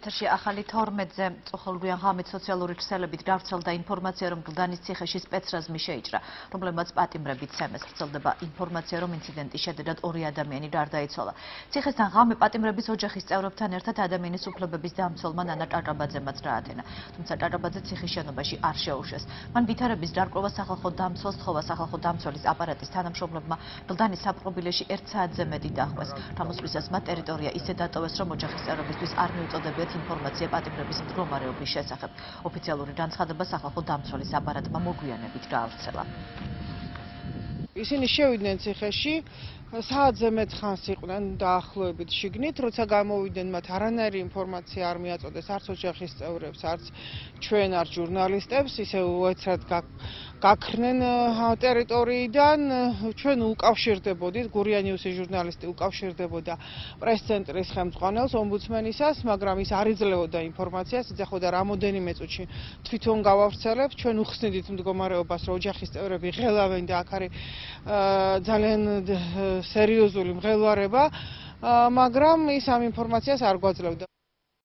ეთერში ახალი 12-ზე წოხალგვიან ღამით სოციალური ქსელებით გავრცელდა ინფორმაცია, რომ გლდანის ციხეში სპეცრაზმი შეიჭრა, რომლებმაც პატიმრებით ცემეს. ვრცელდება ინფორმაცია, რომ ინციდენტის შედეგად 2 ადამიანი გარდაიცვალა. ციხესთან ღამე პატიმრების ოჯახის წევრებთან ერთად ადამიანის უფლებების დამცველმა ნანა ჭარაბაძემაც გაათენა. თუმცა ჭარაბაძე ციხის შენობაში არ შეუშვეს. მან ვითარების დარკვევა სახალხო დამცველს თხოვა. სახალხო დამცველის აპარატის თანამშრომლებმა გლდანის საპყრობილეში 1 საათზე მეტი დაჰყვეს. თამოსვლისას მათ ტერიტორია ისე დატოვეს, რომ ოჯახის წევრებისთვის არ მიუწოდებიათ ინფორმაცია პატიმრების მდგომარეობის შესახებ. ოფიციალური განცხადება სახალხო დამცველის აპარატმა მოგვიანებით გაავრცელა. ისინი შევიდნენ ციხეში, საათზე მეტ ხანს იყვნენ დაახლოებით შიგნით, როცა გამოვიდნენ, მათ არანაირი ინფორმაცია არ მიაწოდეს არც ოჯახის წევრებს, არც ჩვენ, არც ჟურნალისტებს, ისე უეცრად გაქრნენ ტერიტორიიდან. ჩვენ უკავშირდებოდით, გურია ნიუსის ჟურნალისტი უკავშირდებოდა პრეს-ცენტრის ხელმძღვანელს, ომბუდსმენისას, მაგრამ ის არ იძლეოდა ინფორმაციას, იძახოდა რამოდენიმე წუთში თვითონ გავავრცელებთ. ჩვენ უხსნიდით მდგომარეობას, რომ ოჯახის წევრები ღელავენ და აქ არის ძალიან სერიოზული მღელვარება, მაგრამ ის ამ ინფორმაციას არ გვაძლევდა.